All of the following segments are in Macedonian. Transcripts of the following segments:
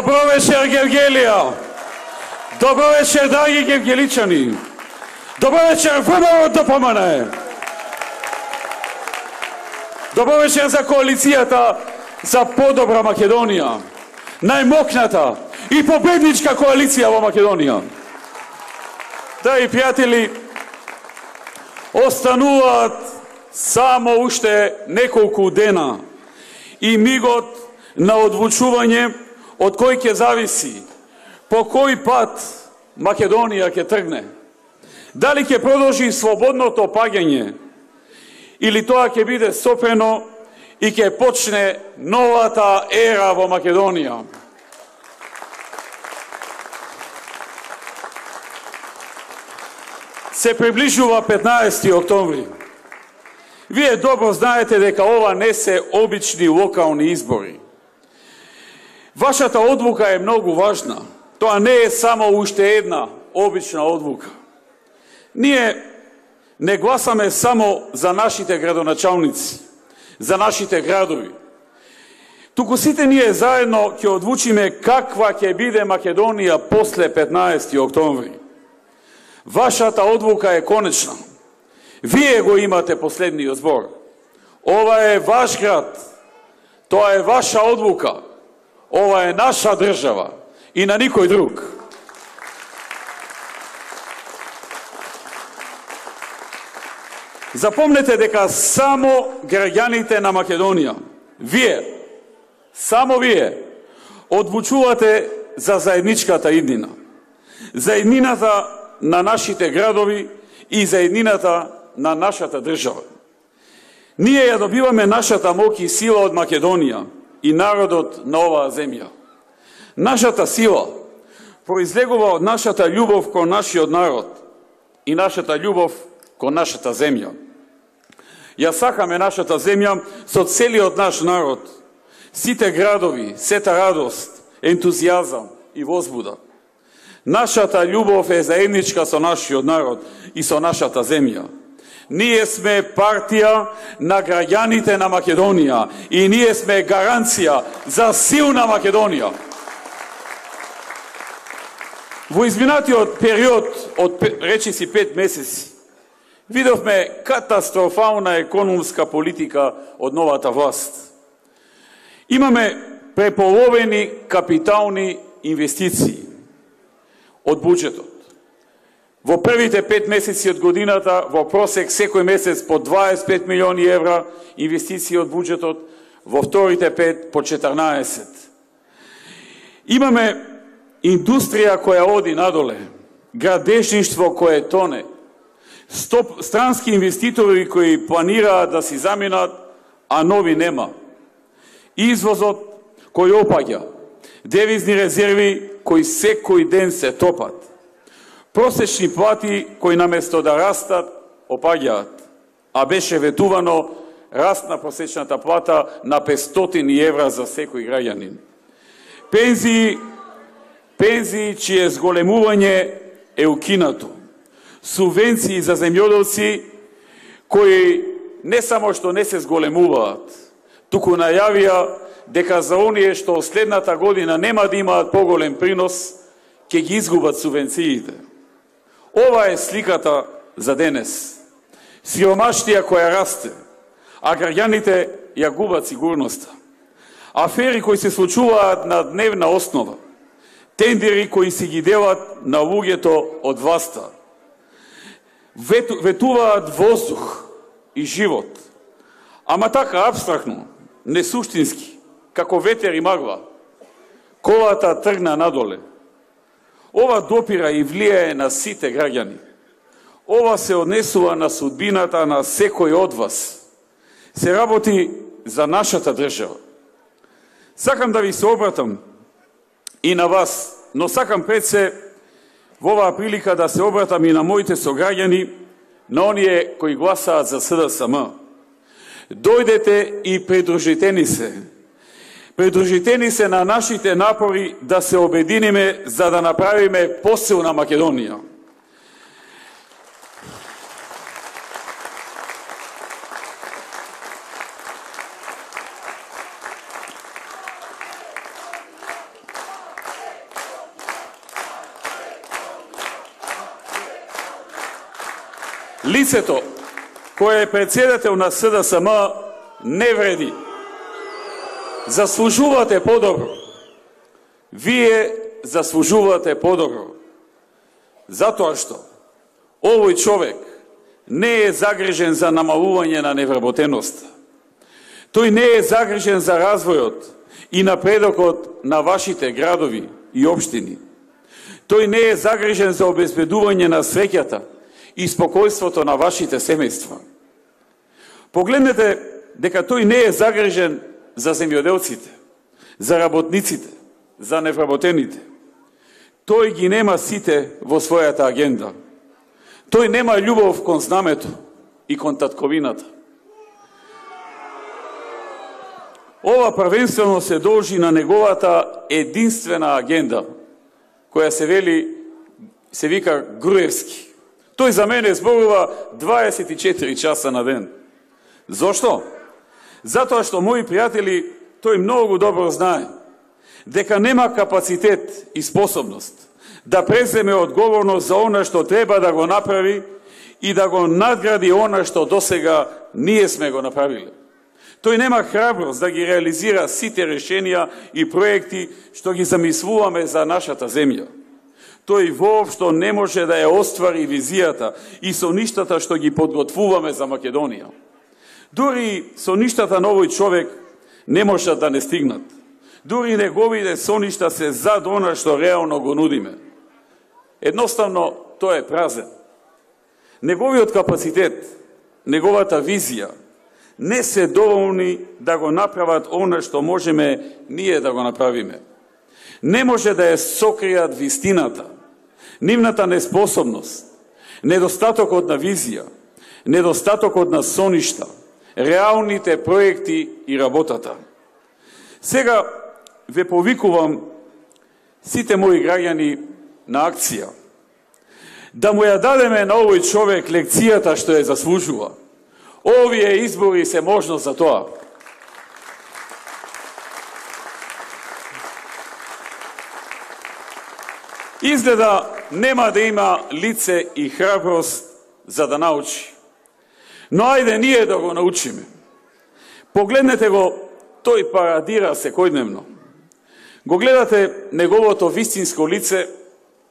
Добро вечер, Гевгелија! Добро вечер, драги гевгеличани! Добро вечер, ВМРО ДПМН! Добро вечер за коалицијата за подобра Македонија, најмокната и победничка коалиција во Македонија. Драги пријатели, остануваат само уште неколку дена и мигот на одлучување од кој ќе зависи по кој пат Македонија ќе тргне. Дали ќе продолжи слободното паѓање или тоа ќе биде сопрено и ќе почне новата ера во Македонија. Се приближува 15 октомври. Вие добро знаете дека ова не се обични локални избори. Вашата одлука е многу важна. Тоа не е само уште една обична одлука. Ние не гласаме само за нашите градоначалници, за нашите градови. Туку сите ние заедно ќе одлучиме каква ќе биде Македонија после 15 октомври. Вашата одлука е конечна. Вие го имате последниот збор. Ова е ваш град. Тоа е ваша одлука. Ова е наша држава и на никој друг. Запомнете дека само граѓаните на Македонија, вие, само вие, одлучувате за заедничката иднина. За иднината на нашите градови и за иднината на нашата држава. Ние ја добиваме нашата моќ и сила од Македонија и народот на оваа земја. Нашата сила произлегува од нашата љубов кон нашиот народ и нашата љубов кон нашата земја. Ја сакаме нашата земја со целиот наш народ, сите градови, сета радост, ентузијазам и возбуда. Нашата љубов е заедничка со нашиот народ и со нашата земја. Ние сме партија на граѓаните на Македонија и ние сме гаранција за силна Македонија. Во изминатиот период од речиси 5 месеци видовме катастрофална економска политика од новата власт. Имаме преполовени капитални инвестиции од буџетот. Во првите 5 месеци од годината, во просек секој месец по 25 милиони евра инвестиции од буџетот, во вторите 5 по 14. Имаме индустрија која оди надоле, градежништво кое тоне, странски инвеститори кои планираат да си заминат, а нови нема. Извозот кој опаѓа, девизни резерви кои секој ден се топат. Просечни плати кои наместо да растат, опаѓаат, а беше ветувано раст на просечната плата на 500 евра за секој граѓанин. Пензии чие зголемување е укинато. Субвенции за земјоделци кои не само што не се зголемуваат, туку најавија дека за оние што следната година нема да имаат поголем принос, ќе ги изгубат субвенциите. Ова е сликата за денес. Сиромаштија која расте, а граѓаните ја губат сигурноста. Афери кои се случуваат на дневна основа. Тендери кои си ги делат на луѓето од власта. Ветуваат воздух и живот. Ама така абстрактно, несуштински, како ветер и магла. Колата тргна надоле. Ова допира и влијае на сите граѓани. Ова се однесува на судбината на секој од вас. Се работи за нашата држава. Сакам да ви се обратам и на вас, но сакам пред се во оваа прилика да се обратам и на моите сограѓани, на оние кои гласаат за СДСМ. Дојдете и придружите ни се. Придружите ни се на нашите напори да се обединиме за да направиме посилна Македонија. Лицето кое е председател на СДСМ не вреди. Заслужувате подобро. Вие заслужувате подобро. Затоа што овој човек не е загрижен за намалување на невработеноста. Тој не е загрижен за развојот и напредокот на вашите градови и општини. Тој не е загрижен за обезбедување на среќата и спокојството на вашите семејства. Погледнете дека тој не е загрижен за земјоделците, за работниците, за невработените. Тој ги нема сите во својата агенда. Тој нема љубов кон знамето и кон татковината. Ова првенствено се должи на неговата единствена агенда, која се вика Груевски. Тој за мене зборува 24 часа на ден. Зошто? Затоа што, мои пријатели, тој многу добро знае дека нема капацитет и способност да преземе одговорност за она што треба да го направи и да го надгради она што досега ние сме го направиле. Тој нема храброст да ги реализира сите решенија и проекти што ги замислуваме за нашата земја. Тој воопшто не може да ја оствари визијата и соништата што ги подготвуваме за Македонија. Дури соништата на овој човек не можат да не стигнат. Дури неговите соништа се зад она што реално го нудиме. Едноставно, тој е празен. Неговиот капацитет, неговата визија, не се доволни да го направат она што можеме ние да го направиме. Не може да ја сокријат вистината, нивната неспособност, недостатокот на визија, недостатокот на соништа, реалните проекти и работата. Сега ве повикувам сите мои граѓани на акција, да му ја дадеме на овој човек лекцијата што ја заслужува. Овие избори се можност за тоа. Изгледа нема да има лице и храброст за да научи. Но ајде ние да го научиме. Погледнете го, тој парадира секојдневно. Го гледате неговото вистинско лице,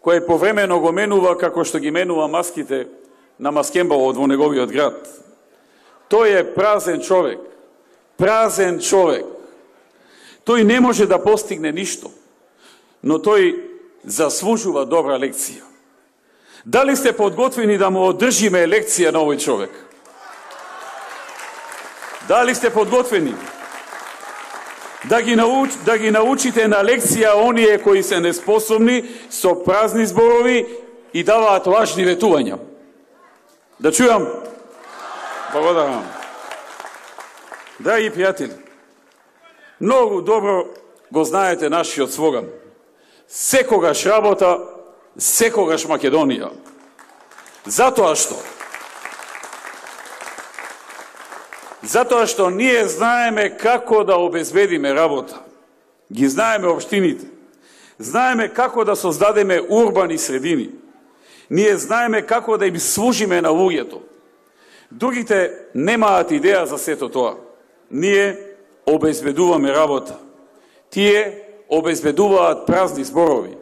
кое повремено го менува како што ги менува маските на маскембалот во неговиот град. Тој е празен човек. Празен човек. Тој не може да постигне ништо, но тој заслужува добра лекција. Дали сте подготвени да му одржиме лекција на овој човек? Дали сте подготвени да ги научите на лекција оние кои се неспособни, со празни зборови и даваат лажни ветувања? Да чујам? Благодарам. Драги пријатели, многу добро го знаете нашиот слоган. Секогаш работа, секогаш Македонија. Затоа што ние знаеме како да обезбедиме работа. Ги знаеме општините. Знаеме како да создадеме урбани средини. Ние знаеме како да им служиме на луѓето. Другите немаат идеја за сето тоа. Ние обезбедуваме работа. Тие обезбедуваат празни зборови.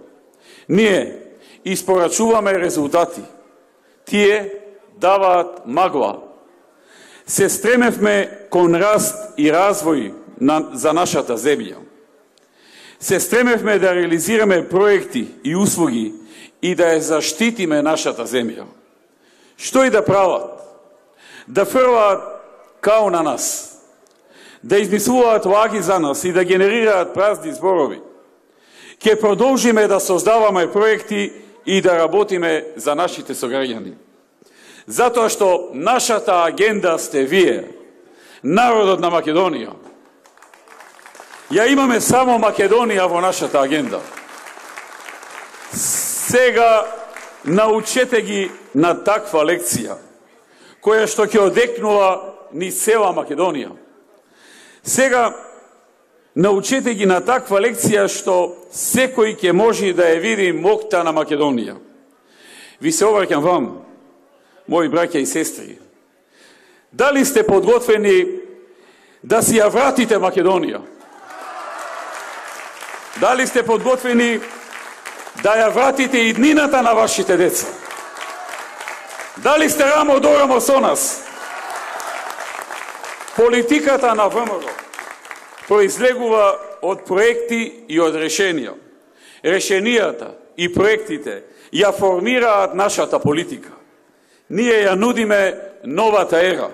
Ние испорачуваме резултати. Тие даваат магла. Се стремевме кон раст и развој за нашата земја. Се стремевме да реализираме проекти и услуги и да ја заштитиме нашата земја. Што и да прават? Да фрлаат као на нас, да измислуваат лаги за нас и да генерираат празни зборови. Ке продолжиме да создаваме проекти и да работиме за нашите сограѓани. Затоа што нашата агенда сте вие, народот на Македонија. Ја имаме само Македонија во нашата агенда. Сега научете ги на таква лекција, која што ќе одекнува ни цела Македонија. Сега научете ги на таква лекција што секој ќе може да ја види мокта на Македонија. Ви се обраќам вам. мои браќа и сестри, дали сте подготвени да си ја вратите Македонија? Дали сте подготвени да ја вратите иднината на вашите деца? Дали сте рамо до рамо со нас? Политиката на ВМРО произлегува од проекти и од решенија. Решенијата и проектите ја формираат нашата политика. Ние ја нудиме новата ера.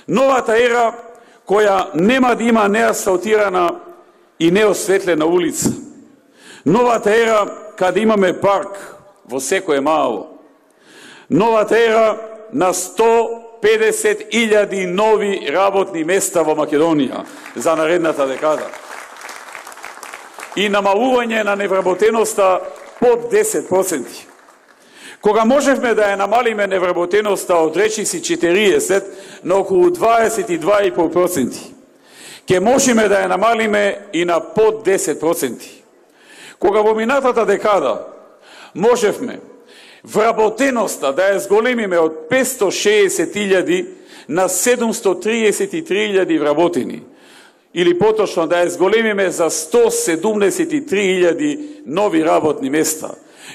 Новата ера која нема да има неасфалтирана и неосветлена улица. Новата ера каде имаме парк во секое мало. Новата ера на 150.000 нови работни места во Македонија за наредната декада. И намалување на невработеноста под 10%. Кога можевме да ја намалиме невработеноста од речиси 40 на околу 22,5%, ќе можеме да ја намалиме и на под 10%. Кога во минатата декада можевме вработеноста да ја зголемиме од 560.000 на 733.000 вработени, или поточно да ја зголемиме за 173.000 нови работни места,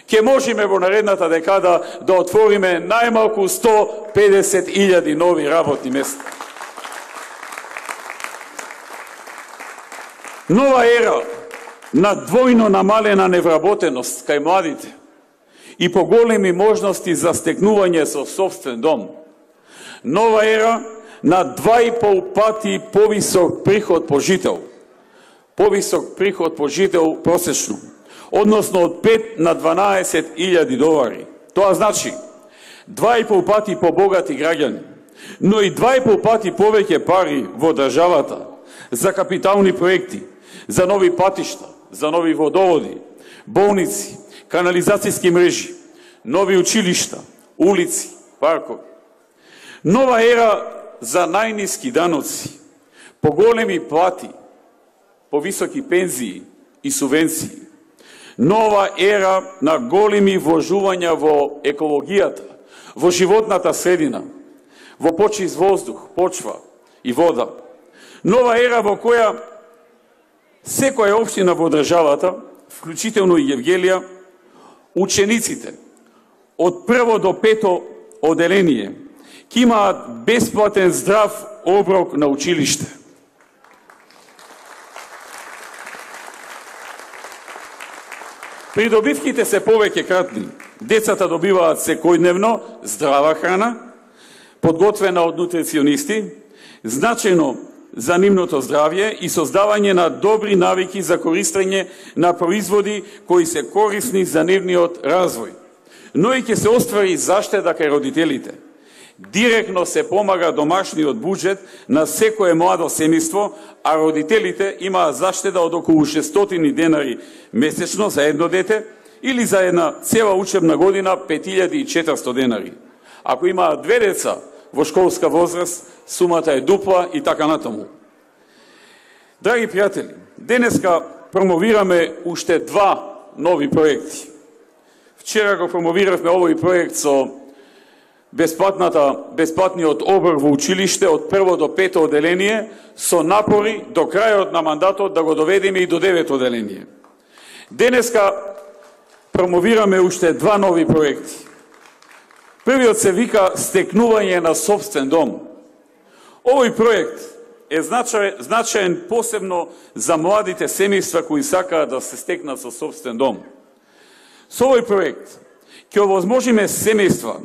ќе можеме во наредната декада да отвориме најмалку 150.000 нови работни места. Нова ера на двојно намалена невработеност кај младите и поголеми можности за стекнување со собствен дом. Нова ера на 2,5 пати повисок приход по жител. Повисок приход по жител просечно. Односно од 5 на 12.000 долари. Тоа значи 2,5 пати побогати граѓани, но и 2,5 пати повеќе пари во државата за капитални проекти, за нови патишта, за нови водоводи, болници, канализацијски мрежи, нови училишта, улици, паркови. Нова ера за најниски даноци, поголеми плати, повисоки пензии и субвенции. Нова ера на големи вложувања во екологијата, во животната средина, во почист воздух, почва и вода. Нова ера во која секоја општина во државата, вклучително и Евгелија, учениците од прво до пето оделение ќе имаат бесплатен здрав оброк на училиште. Придобивките се повеќе кратни. Децата добиваат секојдневно здрава храна, подготвена од нутриционисти, значајно за нивното здравје и создавање на добри навики за користење на производи кои се корисни за нивниот развој. Но и ќе се оствари заштеда кај родителите. Директно се помага домашниот буџет на секое младо семејство, а родителите имаат заштеда од околу 600 денари месечно за едно дете или за една цела учебна година 5400 денари. Ако имаат две деца во школска возраст, сумата е дупла и така натаму. Драги пријатели, денеска промовираме уште два нови проекти. Вчера го промовиравме овој проект со бесплатниот оброк во училиште од прво до пето оделение, со напори до крајот на мандатот да го доведеме и до 9 оделение. Денеска промовираме уште два нови проекти. Првиот се вика стекнување на собствен дом. Овој проект е значаен посебно за младите семејства кои сакаат да се стекнат со собствен дом. Со овој проект ќе овозможиме семејства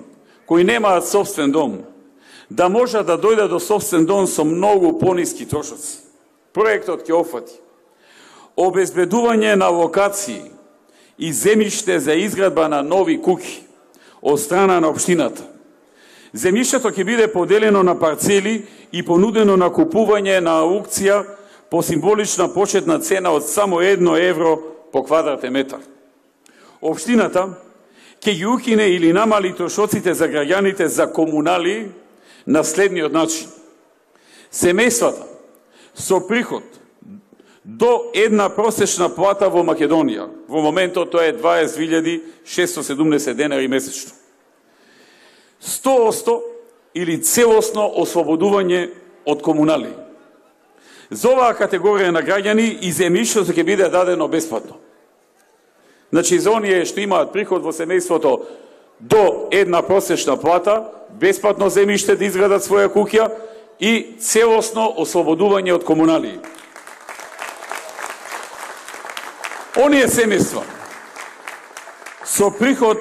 кои немаат собствен дом да можат да дојдат до собствен дом со многу пониски трошоци. Проектот ќе опфати обезбедување на локации и земјиште за изградба на нови куќи од страна на општината. Земјиштето ќе биде поделено на парцели и понудено на купување на аукција по символична почетна цена од само 1 евро по квадратен метар. Општината ќе ги укине или намали трошоците за граѓаните за комунали на следниот начин. Семејствата со приход до една просечна плата во Македонија, во моментот тоа е 20.670 денари месечно, 100% или целосно ослободување од комунали. За оваа категорија на граѓани и земјишто ќе биде дадено бесплатно. Значи, за оние што имаат приход во семејството до една просечна плата, бесплатно земјиште да изградат своја куќа и целосно ослободување од комунали. Оние семејства со приход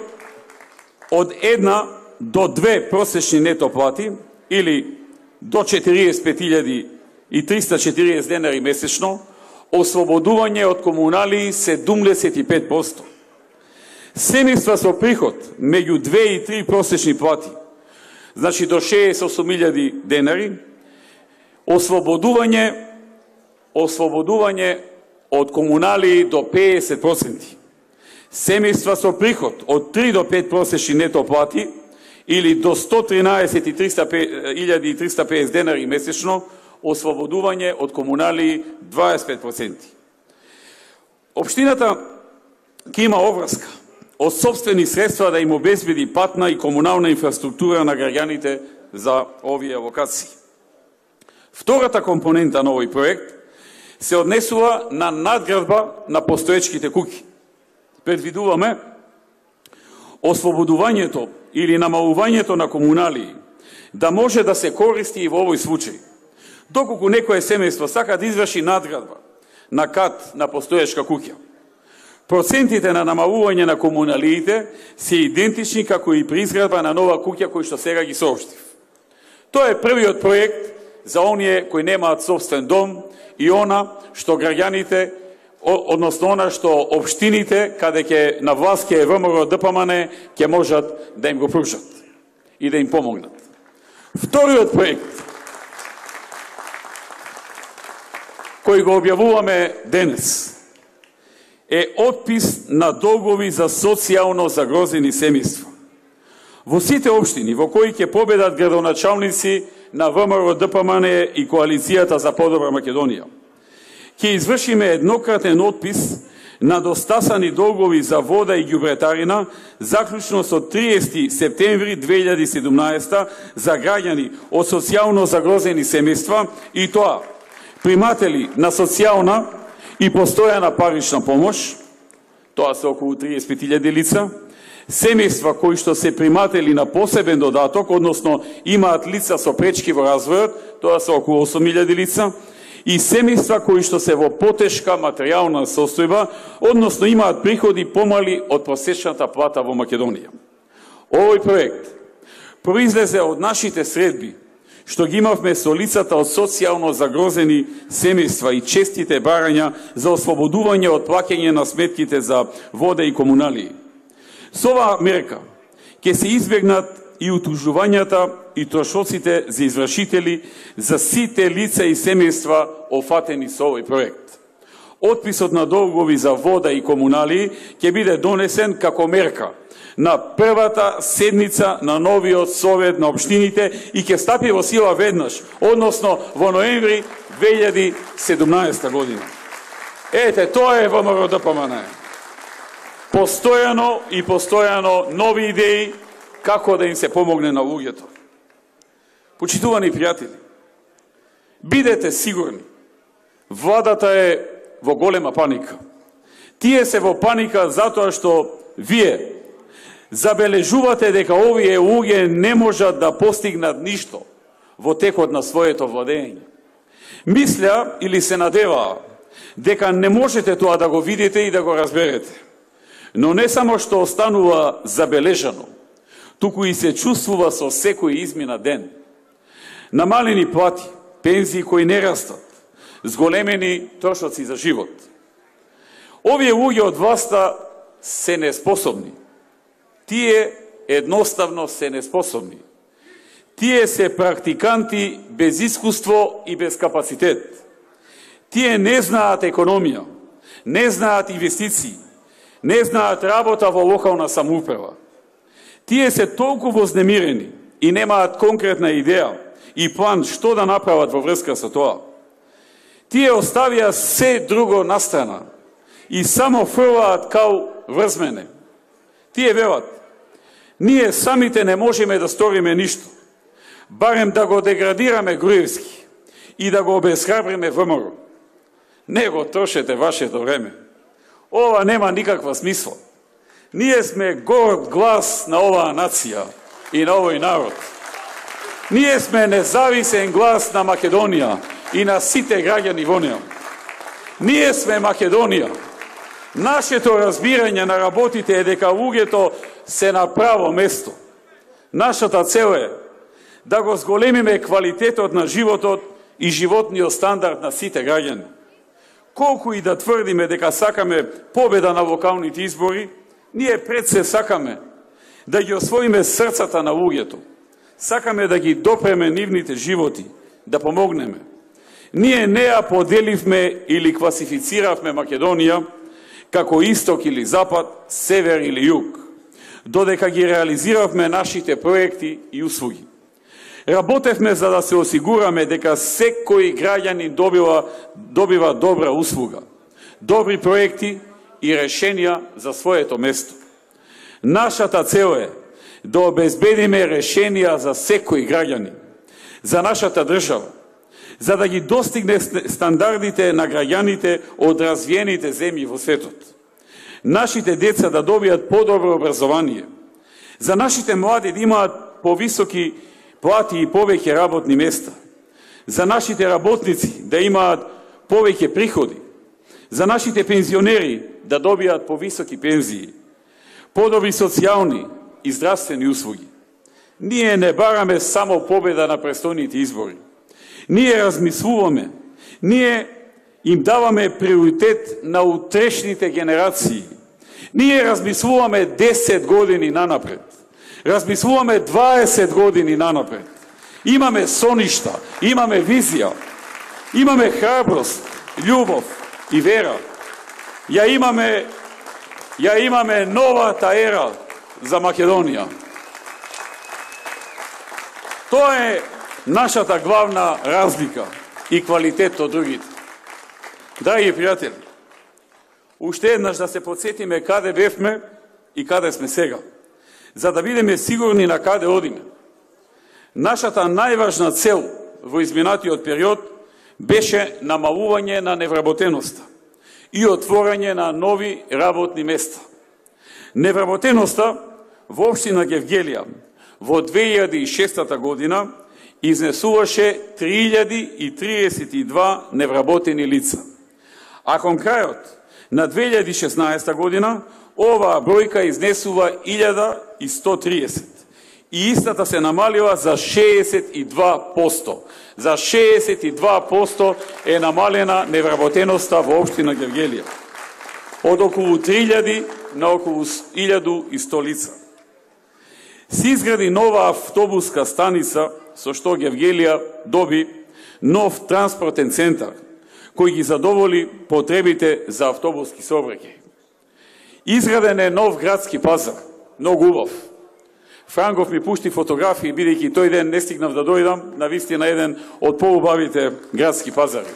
од 1 до 2 просечни нето плати или до 45.340 денари месечно, ослободување од комунали 75%. Семејства со приход меѓу 2 и 3 просечни плати, значи до 68.000 денари, ослободување од комунали до 50%. Семејства со приход од 3 до 5 просечни нето плати или до 113.350 денари месечно, ослободување од комунали 25%. Општината ќе има обврска од сопствени средства да им обезбеди патна и комунална инфраструктура на граѓаните за овие локации. Втората компонента на овој проект се однесува на надградба на постоечките куќи. Предвидуваме ослободувањето или намалувањето на комунали да може да се користи и во овој случај. Доколку некое семејство сака да изврши надградба на кат на постоечка куќа, процентите на намалување на комуналиите се идентични како и при изградба на нова куќа кој што сега ги соопштив. Тоа е првиот проект за оние кои немаат собствен дом и она што граѓаните, односно она што општините каде ќе на власт ќе ВМРО ДПМН ќе можат да им го пружат и да им помогнат. Вториот проект кој го објавуваме денес е отпис на долгови за социјално загрозени семејства. Во сите општини во кои ќе победат градоначалници на ВМРО ДПМН и Коалицијата за подобра Македонија, ќе извршиме еднократен отпис на достасани долгови за вода и ѓубретарина, заклучно со 30 септември 2017 за граѓани од социјално загрозени семејства, и тоа приматели на социјална и постојана парична помош, тоа се околу 35.000 лица, семејства кои што се приматели на посебен додаток, односно имаат лица со пречки во развојот, тоа се околу 8.000 лица, и семејства кои што се во потешка материјална состојба, односно имаат приходи помали од просечната плата во Македонија. Овој проект произлезе од нашите средби што ги имавме со лицата од социјално загрозени семејства и честите барања за ослободување од плаќање на сметките за вода и комунали. Со оваа мерка ќе се избегнат и утужувањата и трошоците за извршители за сите лица и семејства офатени со овој проект. Отписот на долгови за вода и комунали ќе биде донесен како мерка на првата седница на новиот совет на општините и ќе стапи во сила веднаш, односно во ноември 2017 година. Ете, тоа е ВМРО ДПМН. Постојано нови идеи како да им се помогне на луѓето. Почитувани пријатели, бидете сигурни, владата е во голема паника. Тие се во паника затоа што вие забележувате дека овие луѓе не можат да постигнат ништо во текот на своето владење. Мисля или се надеваа дека не можете тоа да го видите и да го разберете. Но не само што останува забележано, туку и се чувствува со секој измина ден. Намалени плати, пензии кои не растат, зголемени трошоци за живот. Овие луѓе од власта се неспособни. Тие едноставно се неспособни. Тие се практиканти без искуство и без капацитет. Тие не знаат економија, не знаат инвестиции, не знаат работа во локална самоуправа. Тие се толку вознемирени и немаат конкретна идеја и план што да направат во врска со тоа. Тие оставија се друго настрана и само фрлаат као врз мене. Тие велат, Ние самите не можеме да сториме ништо, барем да го деградираме Груевски и да го обесхрабриме ВМРО. Не го трошете вашето време. Ова нема никаква смисла. Ние сме горд глас на оваа нација и на овој народ. Ние сме независен глас на Македонија и на сите граѓани во неа. Ние сме Македонија. Нашето разбирање на работите е дека луѓето се на право место. Нашата цел е да го зголемиме квалитетот на животот и животниот стандард на сите граѓани. Колку и да тврдиме дека сакаме победа на локалните избори, ние пред се сакаме да ги освоиме срцата на луѓето. Сакаме да ги допреме нивните животи, да помогнеме. Ние не ја поделивме или класифициравме Македонија како исток или запад, север или југ, додека ги реализиравме нашите проекти и услуги. Работевме за да се осигураме дека секој граѓанин добива добра услуга, добри проекти и решенија за своето место. Нашата цел е да обезбедиме решенија за секој граѓанин, за нашата држава, за да ги достигне стандардите на граѓаните од развиените земји во светот. Нашите деца да добијат подобро образование, за нашите млади да имаат повисоки плати и повеќе работни места, за нашите работници да имаат повеќе приходи, за нашите пензионери да добијат повисоки пензии, подобри социјални и здравствени услуги. Ние не бараме само победа на престојните избори. Ние размислуваме, ние им даваме приоритет на утрешните генерации. Ние размислуваме 10 години нанапред. Размислуваме 20 години нанапред. Имаме соништа, имаме визија, имаме храброст, љубов и вера. Ја имаме новата ера за Македонија. Тоа е нашата главна разлика и квалитет од другите. Драги пријатели, уште еднаш да се подсетиме каде бевме и каде сме сега, за да бидеме сигурни на каде одиме. Нашата најважна цел во изминатиот период беше намалување на невработеноста и отворање на нови работни места. Невработеноста во општина Гевгелија во 2006 година изнесуваше 3032 невработени лица. А кон крајот на 2016 година оваа бројка изнесува 1130 и истата се намалила за 62%. За 62% е намалена невработеноста во општина Гевгелија. Од околу 3000 на околу 1100 лица. Се изгради нова автобуска станица со што Гевгелија доби нов транспортен центар кој ги задоволи потребите за автобуски сообраќај. Изграден е нов градски пазар, многу убав. Франков ми пушти фотографии, бидејќи тој ден не стигнав да дојдам, на вистина еден од поубавите градски пазари.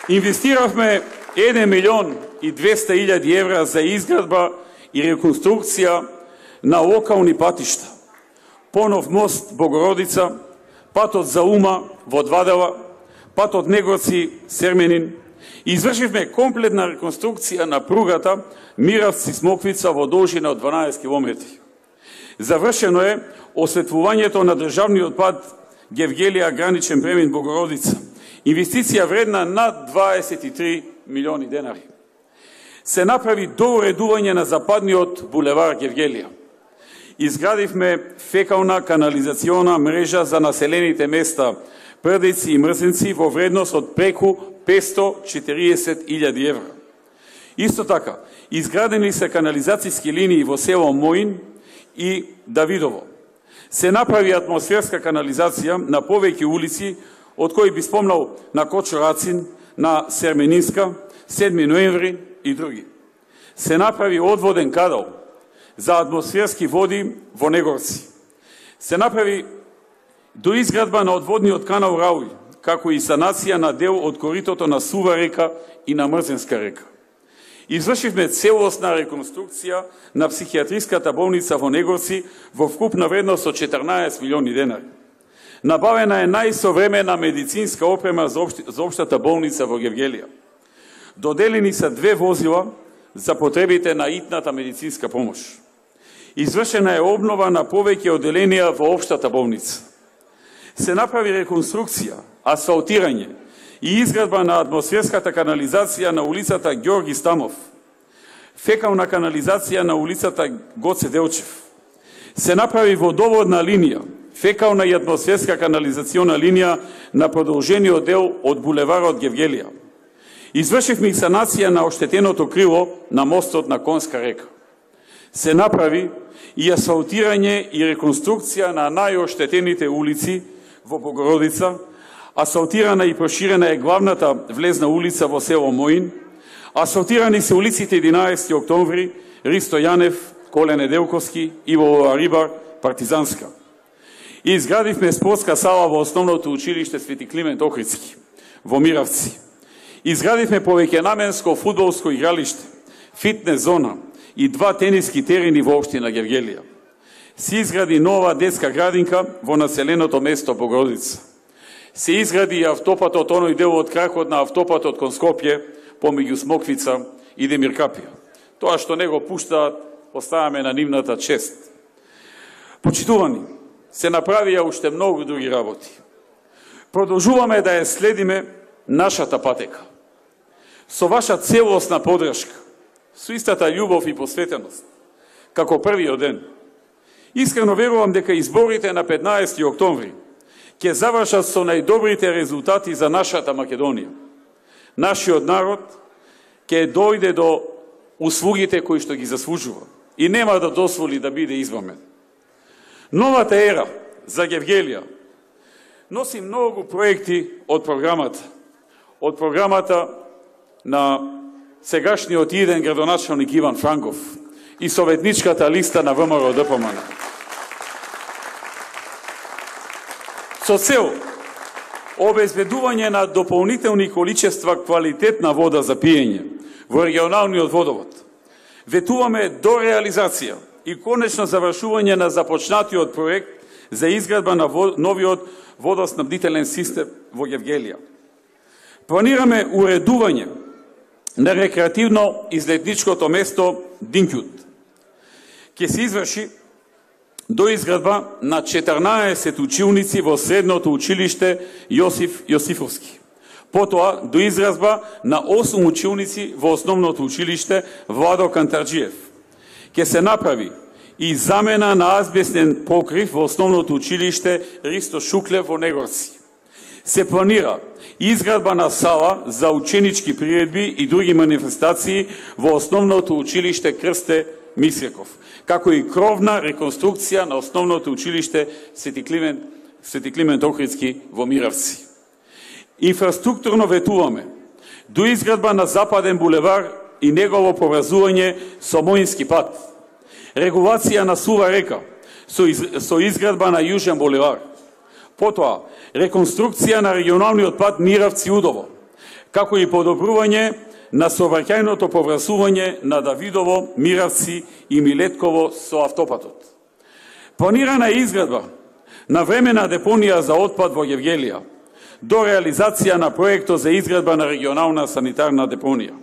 Инвестиравме 1.200.000 евра за изградба и реконструкција на локални патишта. Понов мост Богородица, патот за Ума во Двадела, патот Негорци Серменин. Извршивме комплетна реконструкција на пругата Миравци-Смоквица во должина од 12 км. Завршено е осветлувањето на државниот пат Гевгелија граничен премин Богородица. Инвестиција вредна над 23 милиони денари. Се направи доуредување на западниот булевар Гевгелија. Изградивме фекална канализациона мрежа за населените места Прдици и Мрзенци во вредност од преку 540.000 евра. Исто така, изградени се канализацијски линии во село Моин и Давидово. Се направи атмосферска канализација на повеќе улици, од кои би спомнал на Кочо Рацин, на Серменинска, 7 ноември и други. Се направи одводен канал за атмосферски води во Негорци. Се направи доизградба на одводниот канал Рауј, како и санација на дел од коритото на Сува река и на Мрзенска река. Извршивме целосна реконструкција на психијатриската болница во Негорци во вкупна вредност од 14 милиони денари. Набавена е најсовремена медицинска опрема за општата болница во Гевгелија. Доделени се 2 возила за потребите на итната медицинска помош. Извршена е обнова на повеќе одделенија во општата болница. Се направи реконструкција, асфалтирање и изградба на атмосферската канализација на улицата Ѓорги Стамов, фекална канализација на улицата Гоце Делчев. Се направи водоводна линија, фекална и атмосферска канализациона линија на продолжениот дел од булеварот Гевгелија. Извршивме и санација на оштетеното крило на мостот на Конска река. Се направи и асфалтирање и реконструкција на најоштетените улици во Богородица, асфалтирана и проширена е главната влезна улица во село Моин, асфалтирани се улиците 11 октомври, Ристо Јанев, Коле Неделковски, Иво Рибар, Партизанска. И изградивме спортска сала во основното училиште Свети Климент Охридски, во Миравци. Изградивме повеќенаменско фудбалско игралиште, фитнес зона и 2 тениски терени во општина Гевгелија. Се изгради нова детска градинка во населеното место Богородица. Се изгради и автопатот, оној дел од кракот на автопатот кон Скопје, помеѓу Смоквица и Демиркапија. Тоа што не го пуштаат, оставаме на нивната чест. Почитувани, се направија уште многу други работи. Продолжуваме да ја следиме нашата патека. Со ваша целосна подршка, со истата љубов и посветеност, како првиот ден. Искрено верувам дека изборите на 15 октомври ќе завршат со најдобрите резултати за нашата Македонија. Нашиот народ ќе дојде до услугите кои што ги заслужува и нема да дозволи да биде измамен. Новата ера за Гевгелија носи многу проекти од програмата на сегашниот иден градоначалник Иван Франков и советничката листа на ВМРО-ДПМН. Со цел обезбедување на дополнителни количества квалитетна вода за пиење во регионалниот водовод, ветуваме до реализација и конечно завршување на започнатиот проект за изградба на новиот водоснабдителен систем во Гевгелија. Планираме уредување на рекреативно излетничкото место Динкјут. Ке се изврши до изградба на 14 училници во средното училиште Јосиф Јосифовски. Потоа до изградба на 8 училници во основното училиште Владо Кантарџиев. Ке се направи и замена на азбестен покрив во основното училиште Ристо Шуклев во Негорци. Се планира изградба на сала за ученички приредби и други манифестации во основното училиште Крсте Мисреков, како и кровна реконструкција на основното училиште Свети Климент Охридски во Миравци. Инфраструктурно ветуваме до изградба на Западен булевар и негово поврзување со Моински пат, регулација на Сува река со изградба на Јужен булевар, потоа реконструкција на регионалниот пат Миравци-Удово, како и подобрување на сообраќајното поврзување на Давидово, Миравци и Милетково со автопатот. Планирана е изградба на времена депонија за отпад во Гевгелија, до реализација на проектот за изградба на регионална санитарна депонија.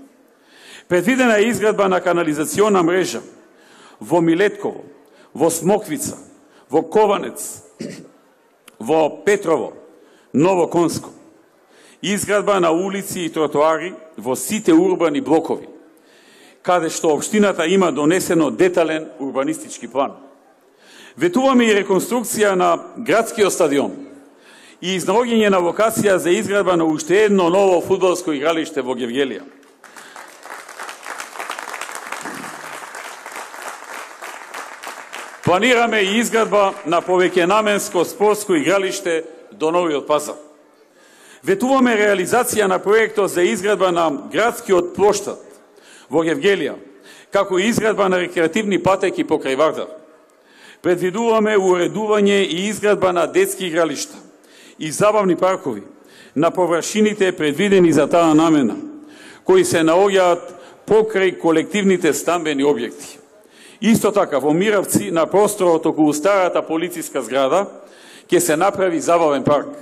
Предвидена е изградба на канализациона мрежа во Милетково, во Смоквица, во Кованец, во Петрово, Ново Конско. Изградба на улици и тротоари во сите урбани блокови, каде што општината има донесено детален урбанистички план. Ветуваме и реконструкција на градскиот стадион и изнаоѓање на локација за изградба на уште едно ново фудбалско игралиште во Гевгелија. Планираме и изградба на повеќенаменско спортско игралиште до Новиот Пазар. Ветуваме реализација на проектот за изградба на градскиот плоштад во Гевгелија, како и изградба на рекреативни патеки покрај Вардар. Предвидуваме уредување и изградба на детски игралишта и забавни паркови на површините предвидени за таа намена, кои се наоѓаат покрај колективните стамбени објекти. Исто така, во Миравци, на просторот околу старата полициска зграда, ќе се направи забавен парк.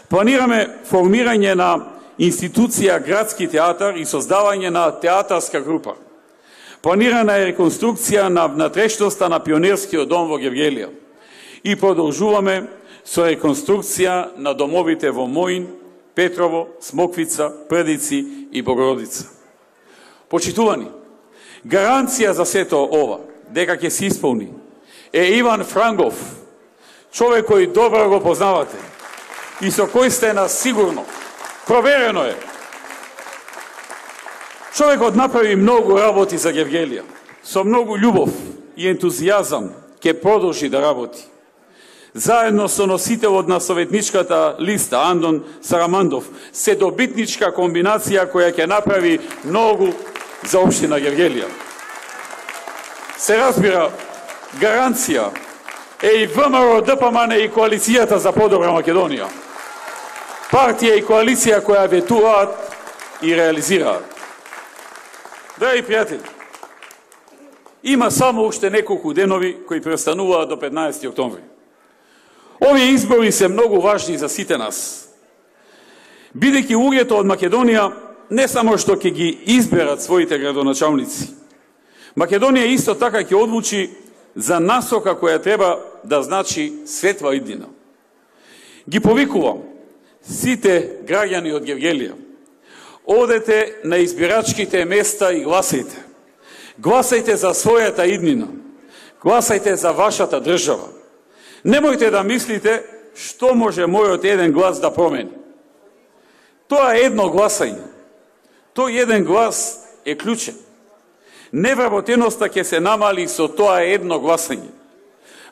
Планираме формирање на институција градски театар и создавање на театарска група. Планирана е реконструкција на внатрешноста на Пионерскиот дом во Гевгелија. И продолжуваме со реконструкција на домовите во Моин, Петрово, Смоквица, Прдици и Богородица. Почитувани, гаранција за сето ова, дека ќе се исполни, е Иван Франгов, човек кој добро го познавате и со кој сте на сигурно. Проверено е. Човекот направи многу работи за Гевгелија. Со многу љубов и ентузијазам ќе продолжи да работи. Заедно со носителот на советничката листа Андон Сарамандов, се добитничка комбинација која ќе направи многу за општина Гевгелија. Се разбира, гаранција е и ВМРО, ДПМН и Коалицијата за подобра Македонија. Партија и коалиција која ветуваат и реализираат. Драги пријатели, има само уште неколку денови кои престануваат до 15 октомври. Овие избори се многу важни за сите нас. Бидејќи луѓето од Македонија не само што ќе ги изберат своите градоначалници, Македонија исто така ќе одлучи за насока која треба да значи светла иднина. Ги повикувам сите граѓани од Гевгелија, одете на избирачките места и гласајте. Гласајте за својата иднина. Гласајте за вашата држава. Немојте да мислите што може мојот еден глас да промени. Тоа е едно гласање. Тој еден глас е клучен. Невработеноста ќе се намали со тоа едно гласање.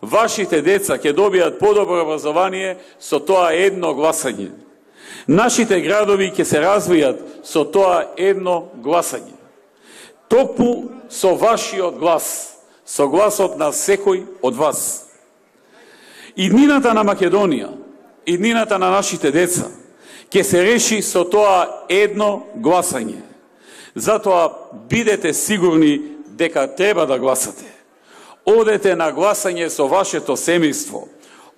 Вашите деца ќе добијат подобро образование со тоа едно гласање. Нашите градови ќе се развијат со тоа едно гласање. Токму со вашиот глас, со гласот на секој од вас. Иднината на Македонија, иднината на нашите деца, ќе се реши со тоа едно гласање. Затоа бидете сигурни дека треба да гласате. Одете на гласање со вашето семејство.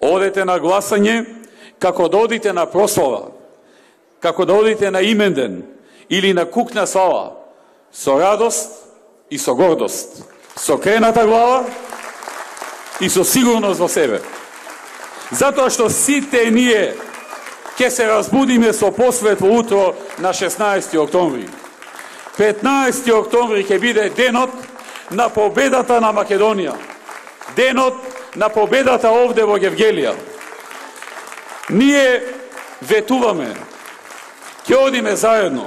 Одете на гласање како да одите на прослава, како да одите на именден или на кукна слава, со радост и со гордост, со крената глава и со сигурност во себе. Затоа што сите ние ќе се разбудиме со посветло утро на 16 октомври. 15 октомври ќе биде денот на победата на Македонија. Денот на победата овде во Гевгелија. Ние ветуваме, ќе одиме заедно.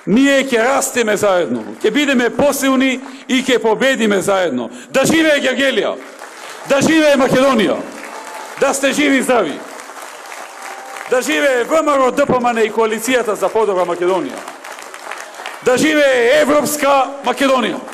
Ние ќе растеме заедно. Ќе бидеме посилни и ќе победиме заедно. Да живее Гевгелија! Да живее Македонија! Да сте живи и здрави! Да живее ВМРО, ДПМН и Коалицијата за подобра Македонија! Да живее Европска Македонија!